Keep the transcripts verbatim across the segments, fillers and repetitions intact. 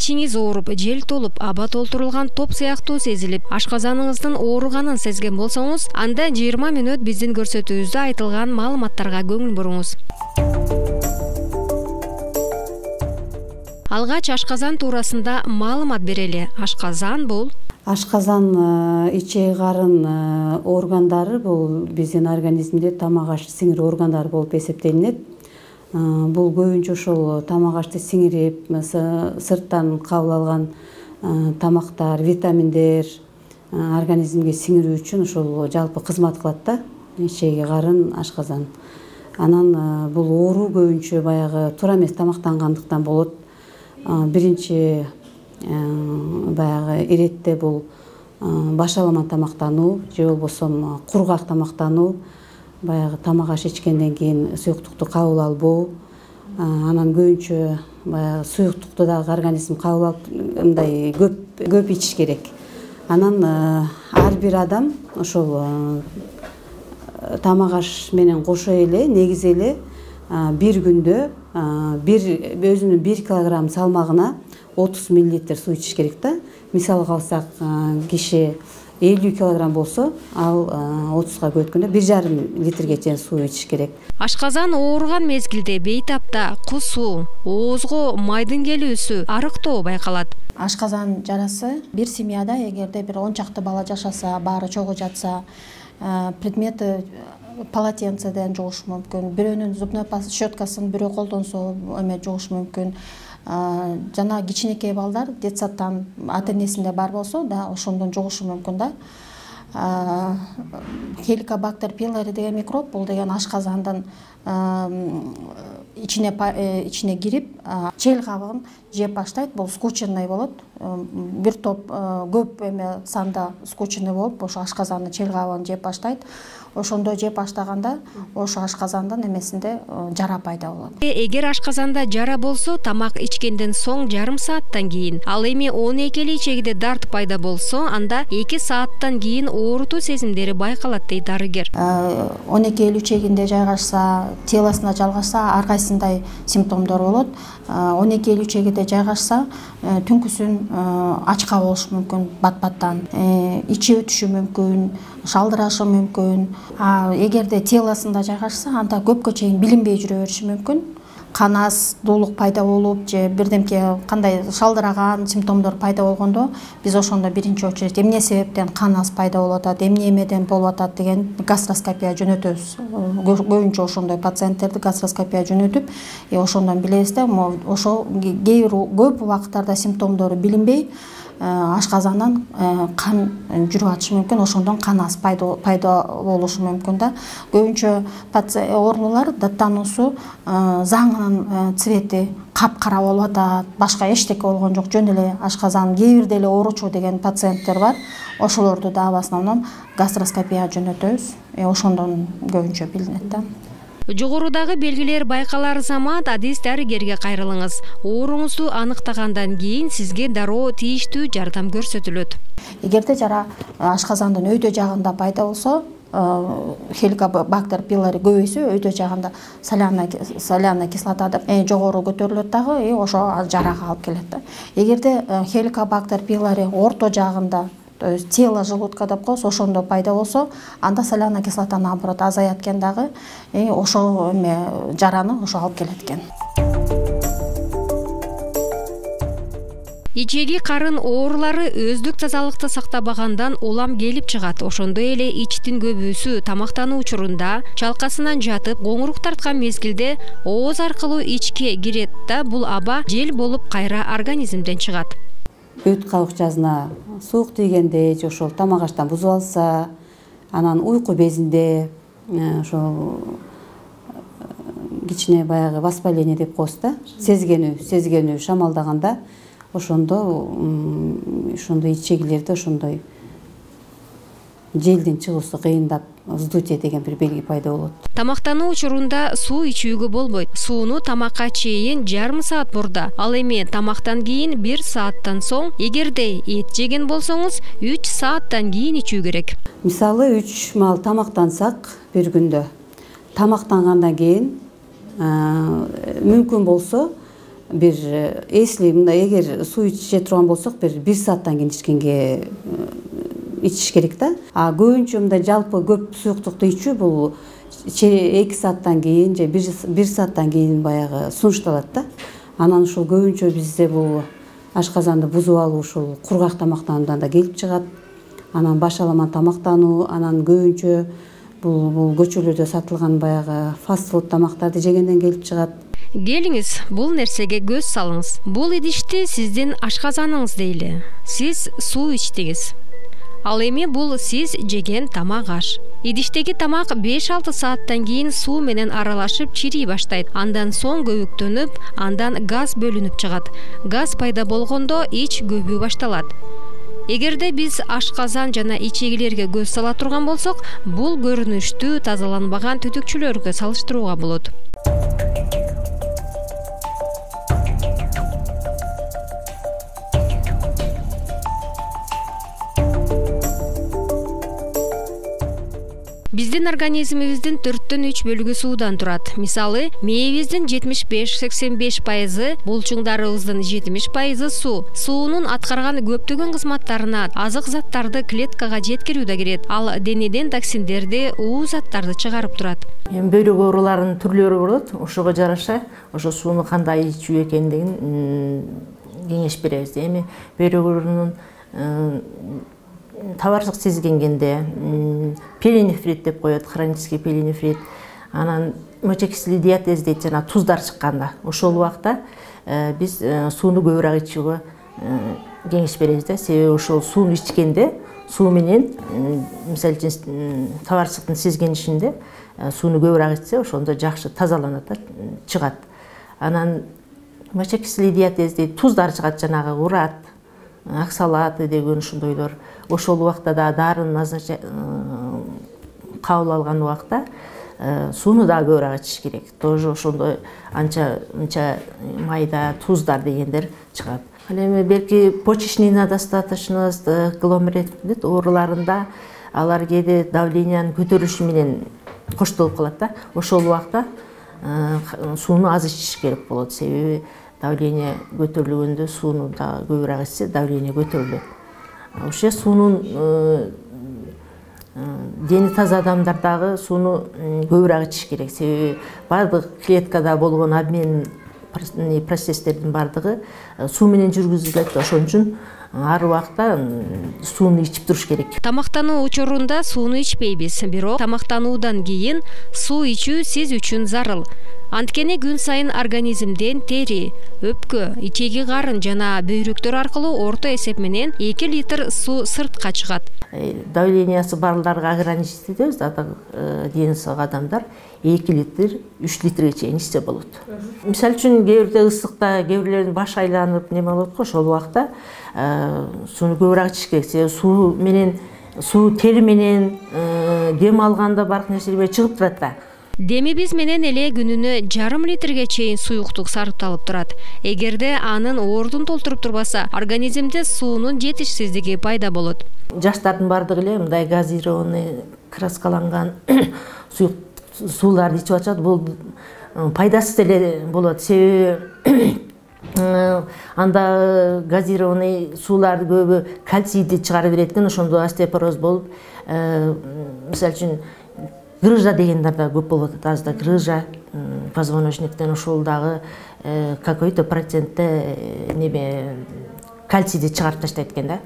ичиңиз ооруп, жел толуп, аба толтурулган топ сыяктуу сезилип, ашказаныңыздын ооруганын сезген болсоңуз, анда жыйырма мүнөт биздин көрсөтүүбүздө айтылган маалыматтарга көңүл буруңуз. Алгач ашказан туурасында маалымат берели. Ашказан бул Ашказан ичек карын органдары бул биздин организмде тамак аш сиңирүү органдары болуп эсептелинет. Бул көбүнчө ошол тамак ашты сиңирип, сырттан кабыл алган тамактар, витаминдер организмге сиңирүү үчүн ошол жалпы кызмат кылат да, ичеги карын, ашказан. Анан бул оору көбүнчө баягы туура эмес тамактангандыктан болот. Биринчи баягы иретте бул башалама тамактануу же болбосо кургак тамактануу, баягы тамак аш ичкенден кийин суюктукту кабыл албоо, анан көбүнчө баягы суюктукту дагы организм кабыл алып мындай көп көп ичиш керек. Анан ар бир адам ошол тамак аш менен кошо эле негизи эле бир күндө бир өзүнүн бир килограмм салмагына отуз миллилитр суу ичиш керек да. Мисалга алсак, киши элүү килограмм болсо, ал отузга бөлгөндө бир жарым литрге чейин суу ичиш керек. Ашказан ооруган мезгилде бейтапта кусуу, оозго майдын келүүсү, арыктоо байкалат. Ашказан жарасы бир семьяда эгерде бир он чакты бала жашаса, баары чогуу жатса, предмети полотенцеден жугушу мүмкүн, бирөөнүн зубной щеткасын бирөө колдонсо эме жугушу мүмкүн. Жана кичинекей балдар детсадтан ата-энесинде бар болсо да ошондон жугушу мүмкүн да. Helicobacter pylori деген микроб, бул деген ашказандын ичине ичине кирип, чел кабыгын жеп баштайт. Бул скученный болот. Бир топ көп эме санда скученный болуп, ошо ашказандын чел кабыгын жеп баштайт. Ошондо жеп баштаганда ошо ашказандын эмесинде жара пайда болот. Эгер ашказанда жара болсо, тамак ичкенден соң жарым сааттан кийин, ал эми он экили ичегиде дарт пайда болсо, анда эки сааттан кийин оорутуу сезимдери байкалат дейт дарыгер. он эки элүү ичегинде жайгашса, телосуна жалгашса, ар кайсындай симптомдор болот. он эки элүү ичегиде жайгашса, түнкүсүн ачка болушу мүмкүн, бат-баттан, ичи өтүшү мүмкүн, шалдырашы мүмкүн. Эгерде телосунда жайгашса, анда көпкө чейин билинбей жүрө бериши мүмкүн. Кан аз, дуулук пайда болуп же бирдемке кандай шалдыраган симптомдор пайда болгондо, биз ошондо биринчи очередь эмне себептен кан аз пайда болуп атат, эмне эмеден болуп атат деген гастроскопия жөнөтөбүз. Көбүнчө ошондой пациенттерди гастроскопия жөнөтүп, ошондон билебиз да, ошо кээ бир көп убакыттарда симптомдору билинбей ашказандан кан жүрүп атышы мүмкүн, ошондон кан аз пайда болушу мүмкүн да. Көбүнчө оорулар даттануусу заңынын цвети капкара болуп атат, башка эчтеке болгон жок, жөн эле ашказан, кээ бирде эле ооручу деген пациенттер бар. Ошолорду да в основном гастроскопия жөнөтөбүз. Ошондон көбүнчө билинет да. Жогорудагы белгилер байкалар замат адис дарыгерге кайрылыңыз. Ооруңузду аныктагандан кийин сизге дароо тийиштүү жардам көрсөтүлөт. Эгерде жара ашказандын өйдө жагында пайда болсо, Helicobacter pylori көбөйсө, өйдө жагында соляный кислота эң жогору көтөрүлөт дагы, ошо жарага алып келет да. Эгерде Helicobacter pylori орто жагында, то есть тело желудка деп коебуз, ошондо пайда болсо, анда соляный кислота наоборот азаят экен дагы, ошо эме жараны ошо алып келет экен. Ичеги карын оорулары өздүк тазалыкты сактабагандан улам келип чыгат. Ошондой эле ичтин көбүүсү тамактануу учурунда, чалкасынан жатып, коңурук тарткан мезгилде ооз аркылуу ичке кирет да, бул аба жел болуп кайра организмден чыгат. Өт кабыкчасына суук тийгенде же ошол тамак аштан бузуп алса, анан уйку безинде ошол кичине баягы воспаление деп коебуз да, сезгенүү, сезгенүү шамалдаганда, ошондо ошондой ичегилерде ошондой желдин чыгуусу кыйындап, вздутие деген бир белги пайда болот. Тамактануу учурунда суу ичүүгө болбойт. Сууну тамакка чейин жарым саат бурда. Ал эми тамактан кийин бир сааттан соң, эгерде эт жеген болсоңуз, үч сааттан кийин ичүү керек. Мисалы үч маал тамактансак бир күндө, тамактангандан кийин мүмкүн болсо бир если мындай эгер суу иче турган болсок бир бир сааттан кийин ичкенге ичиш керек да. А көбүнчө мындай жалпы көп суюктукту ичүү бул эки сааттан кийин же бир сааттан кийин баягы сунушталат да. Анан ушул көбүнчө бизде бул ашказанды бузуп алуу ушул кургак тамактануудан да келип чыгат. Анан башаламан тамактануу, анан көбүнчө бул бул көчөлөрдө сатылган баягы фастфуд тамактарды жегенден келип чыгат. Келиңиз, бул нерсеге көз салыңыз. Бул идишти сиздин ашказаныңыз дейли. Сиз суу ичтиңиз. Ал эми бул сиз жеген тамак аш. Идиштеги тамак беш алты сааттан кийин суу менен аралашып чирий баштайт. Андан соң көбүктөнүп, андан газ бөлүнүп чыгат. Газ пайда болгондо ич көбүү башталат. Эгерде биз ашказан жана ичегилерге көз сала турган болсок, бул көрүнүштү тазаланбаган түтүкчүлөргө салыштырууга болот. Биздин организмибиздин төрттөн үч бөлүгү суудан турат. Мисалы, мээбиздин жетимиш беш сексен беш пайызы, булчуңдарыбыздын жетимиш пайызы суу. Суунун аткарган көптөгөн кызматтарына азык заттарды клеткага жеткирүү да кирет. Ал денеден токсиндерди, уу заттарды чыгарып турат. Эми бөйрөк ооруларынын түрлөрү болот. Ошого жараша ошо сууну кандай ичүү экендигин кеңеш беребиз. Эми бөйрөк оорунун табарсык сезгенгенде перинефрит деп коет, хронический перинефрит, анан мочекислий диатез дейт, жана туздар чыкканда ошол убакта биз сууну көбүрөөк ичүүгө кеңеш беребиз да. Себеби ошол сууну ичкенде суу менен, мисалы үчүн табарсыктын сезгенишинде сууну көбүрөөк ичсе, ошондо жакшы тазаланат да, чыгат. Анан мочекислий диатез дейт, туздар чыгат, жанагы урат, аксалаты деген ушундойлор. Ошол убакта да дарыны кабыл алган убакта сууну да көбүрөөк ичиш керек. Тоже ошондой анча мынча майда туздар дегендер чыгат. Ал эми белки почечный недостаточность, гломерулит ооруларында алар кээде давлениянын көтөрүлүшү менен коштолуп калат да. Ошол убакта сууну аз ичиш керек болот. Себеби давление көтөрүлгөндө сууну да көбүрөөк ичсе, давление көтөрүлөт. Ошо суунун дени таза адамдар дагы сууну көбүрөөк ичиш керек. Себеби бардык клеткада болгон обмен процесстердин бардыгы суу менен жүргүзүлөт. Ошон үчүн ар убакта сууну ичип туруш керек. Тамактануу учурунда сууну ичпейбиз, бирок тамактануудан кийин суу ичүү сиз үчүн зарыл. Анткени күн сайын организмден тери, өпкө, ичеги карын жана бөйрөктөр аркылуу орто эсеп менен эки литр суу сыртка чыгат. Давлениясы барларга ограничить этебиз, дени сау адамдар эки литр, үч литрге чейин ичсе болот. Мисалы үчүн кээ бирде ысыкта, кээ бирлердин баш айланып неме болот го, ошол убакта сууну көбүрөөк ичиш керек. Себеби суу менен, суу тери менен дем алганда бардык нерселер чыгып турат да. Демибиз менен эле күнүнө жарым литрге чейин суюктук сарпталып турат. Эгерде анын ордун толтуруп турбаса, организмде суунун жетишсиздиги пайда болот. Жаштардын бардыгы эле мындай газированный, краскаланган сууларды ичип атышат. Бул пайдасыз эле болот. Себеби анда газированный сууларды көбү кальцийди чыгарып берет экен, ошондо остеопороз болуп, мисалы үчүн грыжа дегендер да көп болуп атат. Азда грыжа, позвоночниктен ошол дагы какой-то процентте неме кальцийди чыгарып таштайт экен да.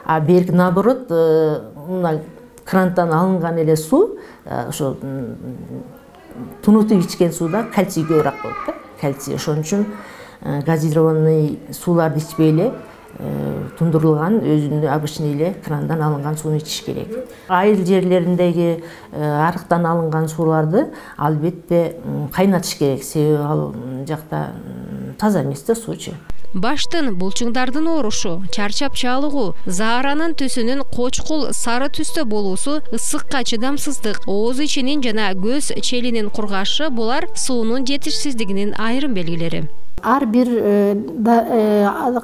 А берки наоборот, мына крандан алынган эле суу, ошо тунутуп ичкен сууда кальций көбүрөөк болот да. Кальций. Ошон үчүн газированный сууларды ичпей эле тундурулган өзүнүн обычный эле крандан алынган сууну ичиш керек. Айыл жерлериндеги арыктан алынган сууларды албетте кайнатыш керек. Себеби ал жакта таза эмес да суучу. Баштын, булчуңдардын оорушу, чарчап чалыгуу, зааранын түсүнүн кочкул сары түстө болуусу, ысыкка чыдамсыздык, ооз ичинин жана көз челинин кургашы булар суунун жетишсиздигинин айрым белгилери. Ар бир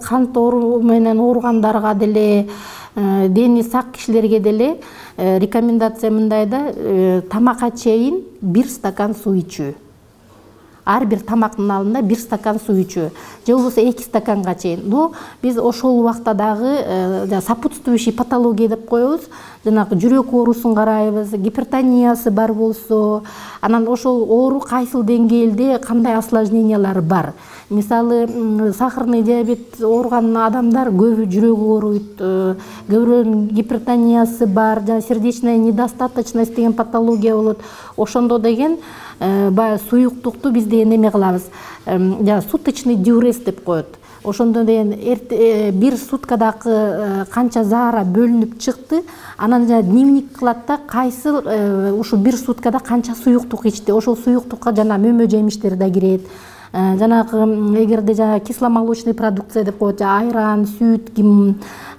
кант оору менен ооругандарга деле, дени сак кишилерге деле рекомендация мындай да, тамакка чейин бир стакан суу ичүү. ар бир тамактын алдында бир стакан суу ичүү же болбосо эки стаканга чейин. Но биз ошол убакта дагы сопутствующий патология деп коебуз. Жанагы жүрөк оорусун карайбыз, гипертониясы бар болсо, анан ошол оору кайсыл деңгээлде кандай осложнениялары бар. Мисалы, сахарный диабет ооруган адамдар көбү жүрөгү ооруйт, көбүрөөнүн гипертониясы бар, жана сердечная недостаточность деген патология болот. Ошондо деген баягы суюктукту биз деген эме кылабыз. Жана суточный диурез деп коет. Ошондо деген бир суткадагы канча заара бөлүнүп чыкты, анан жана дневник кылат да, кайсыл ушу бир суткада канча суюктук ичти. Ошол суюктукка жана мөмө жемиштер да кирет. Жанагы эгерде жана кисломолочный продукция деп коет, айран, сүт,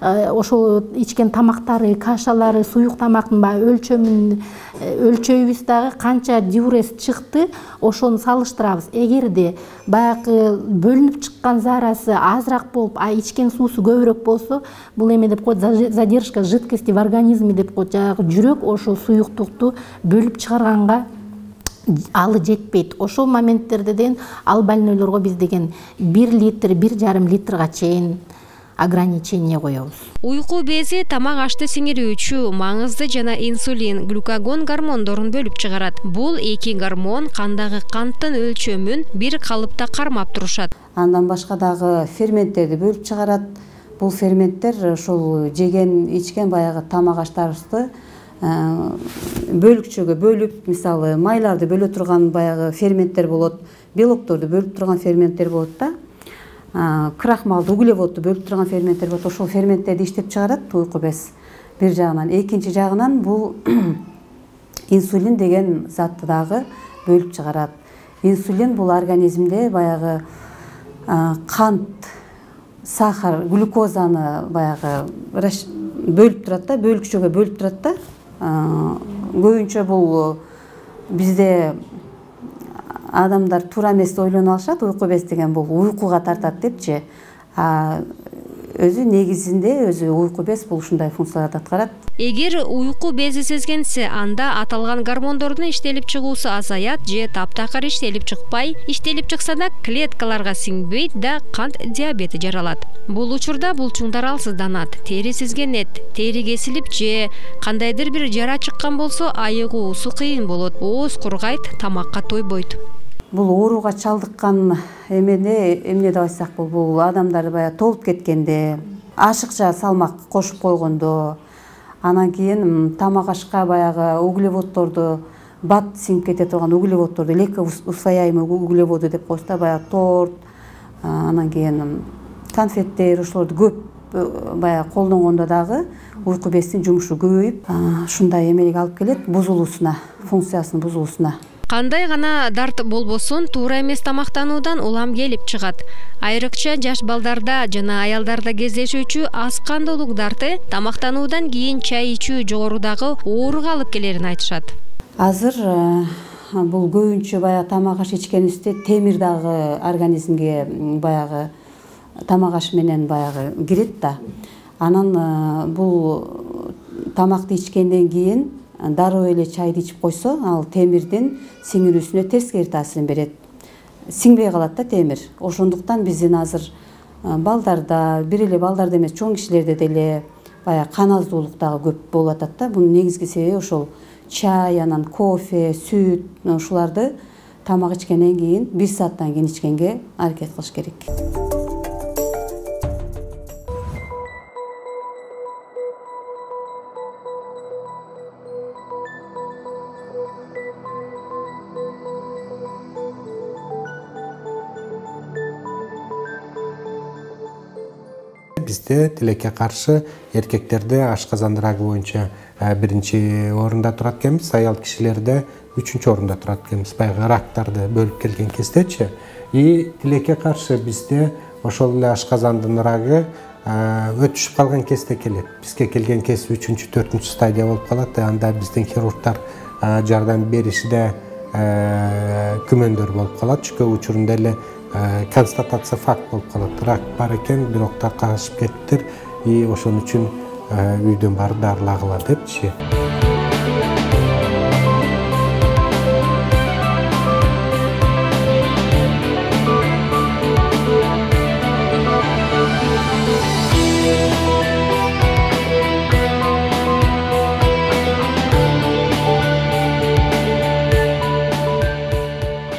ошол ичкен тамактары, кашалары, суюк тамактын баягы өлчөмүн өлчөйбүз дагы канча диурез чыкты, ошону салыштырабыз. Эгерде баягы бөлүнүп чыккан заарасы азыраак болуп, а ичкен суусу көбүрөөк болсо, бул эме деп коет, задержка жидкости в организме деп коет. Жанагы жүрөк ошол суюктукту бөлүп чыгарганга алы жетпейт. Ошол моменттерде деген ал больнойлорго биз деген бир литр, бир жарым литрга чейин ограничение коебуз. Уйку бези тамак ашты сиңирүүчү маңызды жана инсулин, глюкагон гормондорун бөлүп чыгарат. Бул эки гормон кандагы канттын өлчөмүн бир калыпта кармап турушат. Андан башка дагы ферменттерди бөлүп чыгарат. Бул ферменттер ошол жеген, ичкен баягы тамак аштарыбызды бөлүкчөгө бөлүп, мисалы майларды бөлө турган баягы ферменттер болот, белокторду бөлүп турган ферменттер болот да, крахмалды, углеводду бөлүп турган ферменттер болот. Ошол ферменттерди иштеп чыгарат уйку без бир жагынан. Экинчи жагынан бул инсулин деген затты дагы бөлүп чыгарат. Инсулин бул организмде баягы кант, сахар, глюкозаны баягы бөлүп турат да, бөлүкчөгө бөлүп турат да. Көбүнчө бул бизде адамдар туура эмес ойлонуп алышат, уйку без деген бул уйкуга тартат депчи. А өзү негизинде өзү уйку без бул ушундай функцияларды аткарат. Эгер уйку бези сезгенсе, анда аталган гормондордун иштелип чыгуусу азаят же таптакыр иштелип чыкпай, иштелип чыкса да клеткаларга сиңбейт да кант диабети жаралат. Бул учурда булчуңдар алсызданат, тери сезгенет, тери кесилип же кандайдыр бир жара чыккан болсо айыгуусу кыйын болот, ооз кургайт, тамакка тойбойт. Бул ооруга чалдыккан эмени эмне деп айтсак бул, бул адамдар баягы толуп кеткенде, ашыкча салмак кошуп койгондо, анан кийин тамак ашка баягы углеводдорду, бат сиңип кете турган углеводдорду, легкоусвояемый углеводы деп коебуз да, баягы торт, анан кийин конфеттер, ошолорду көп баягы колдонгондо дагы уйку бездин жумушу көбөйүп, ушундай эмелик алып келет, бузулуусуна, функциясынын бузулуусуна. Кандай гана дарт болбосун, туура эмес тамактануудан улам келип чыгат. Айрыкча жаш балдарда жана аялдарда кездешүүчү аз кандуулук дарты тамактануудан кийин чай ичүү жогорудагы ооруга алып келерин айтышат. Азыр бул көбүнчө баягы тамак аш ичкенибизде темир дагы организмге баягы тамак аш менен баягы кирет да. Анан бул тамакты ичкенден кийин дароо эле чайды ичип койсо, ал темирдин сиңирүүсүнө терскери таасирин берет. Сиңбей калат да темир. Ошондуктан биздин азыр балдарда, бир эле балдарда эмес, чоң кишилерде деле баягы кан аздуулук дагы көп болуп атат да. Бунун негизги себеби ошол чай, анан кофе, сүт, ушуларды тамак ичкенден кийин бир сааттан кийин ичкенге аракет кылыш керек. Бизде тилекке каршы эркектерде ашказан рагы боюнча биринчи орунда турат экенбиз, аял кишилерде үчүнчү орунда турат экенбиз. Баягы рактарды бөлүп келген кездечи. И тилекке каршы бизде ошол эле ашказандын рагы өтүшүп калган кезде келет. Бизге келген кез үчүнчү, төртүнчү стадия болуп калат. Анда биздин хирургдар жардам беришиде күмөндөр болуп калат. Чүкө учурунда эле констатация факт болуп калат. Рак бар экен, бирок таркашып кеттир, и ошон үчүн үйдөн барып дарылагыла депчи.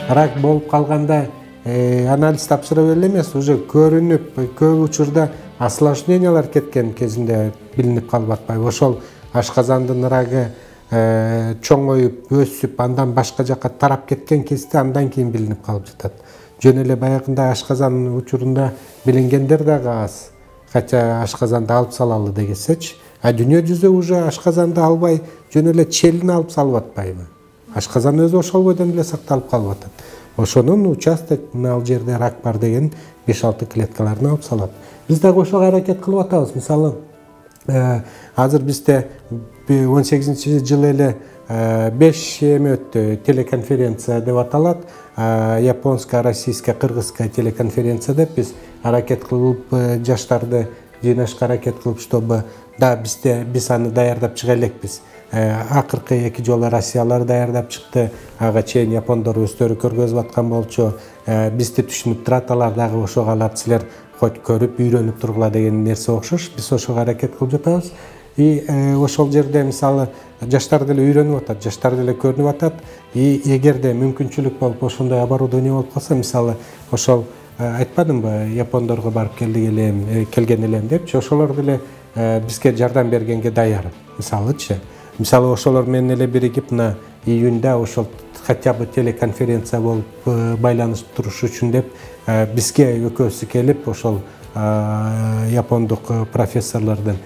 рак болуп калганда анализ тапшыра бере эле эмес, уже көрүнүп көп учурда осложнениялар кеткен кезинде билинип калып атпайбы. Ошол ашказандын рагы чоңоюп, өсүп, андан башка жака тарап кеткен кезде андан кийин билинип калып жатат. Жөн эле баягындай ашказан учурунда билингендер дагы аз. Кача ашказанды алып салалы дегесечи, а дүйнө жүзү уже ашказанды албай, жөн эле челин алып салып атпайбы. Ашказан өзү ошол бойдон эле сакталып калып атат. Ошонун участок ал жерде рак бар деген беш алты клеткаларын алып салат. Биз дагы ошого аракет кылып атабыз. Мисалы, азыр бизде он сегизинчи жылы эле беш эме өттү, телеконференция деп аталат. Японская, российская, кыргызская телеконференция деп биз аракет кылып, жаштарды жыйнашка аракет кылып, чтобы да бизде биз аны даярдап чыга элекпиз. Акыркы эки жолу Россиялар даярдап чыкты, ага чейин япондор өздөрү көргөзүп аткан болчу. Бизди түшүнүп турат, алар дагы ошого алат силер хоть көрүп, үйрөнүп тургула деген нерсе окшош. Биз ошого аракет кылып жатабыз. И ошол жерде мисалы жаштар деле үйрөнүп атат, жаштар деле көрүнүп атат. И эгерде мүмкүнчүлүк болуп ошондой оборудование болуп калса, мисалы ошол айтпадымбы, япондорго барып келдик элем, келген элем депчи, ошолор деле бизге жардам бергенге даяр. Мисалычы, мисалы ошолор менен эле биригип мына июнда ошол хотя бы телеконференция болуп байланышып туруш үчүн деп бизге экөөсү келип ошол япондук профессорлордун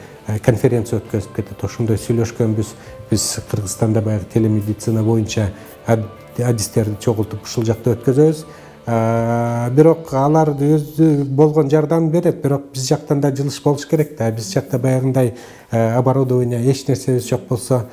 конференция өткөзүп кетет. Ошондой сүйлөшкөнбүз. Биз Кыргызстанда баягы телемедицина боюнча адистерди чогултуп ушул жакта өткөзөбүз. Бирок алар өзү болгон жардам берет, бирок биз жактан да жылыш болуш керек да. Биз жакта баягындай оборудование эч нерсебиз жок болсо,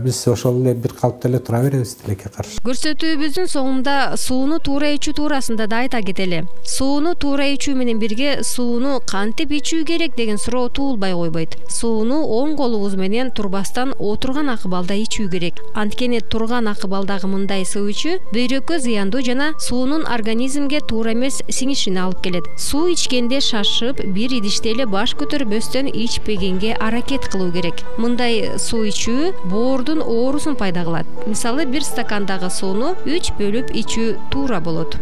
биз ошол эле бир калыпта эле тура беребиз тилекке каршы. Көрсөтүүбүздүн соңунда сууну туура ичүү туурасында да айта кетели. Сууну туура ичүү менен бирге сууну кантип ичүү керек деген суроо туулбай койбойт. Сууну оң колубуз менен турбастан отурган акыбалда ичүү керек. Анткени турган акыбалдагы мындай суу ичүү бөйрөккө зыяндуу жана суунун организмге туура эмес сиңишине алып келет. Суу ичкенде шашып, бир идиште эле баш көтөрбөстөн ичпегенге аракет кылуу керек. Мындай суу ичүү боордун оорусун пайда кылат. Мисалы, бир стакандагы сууну үч бөлүп ичүү туура болот.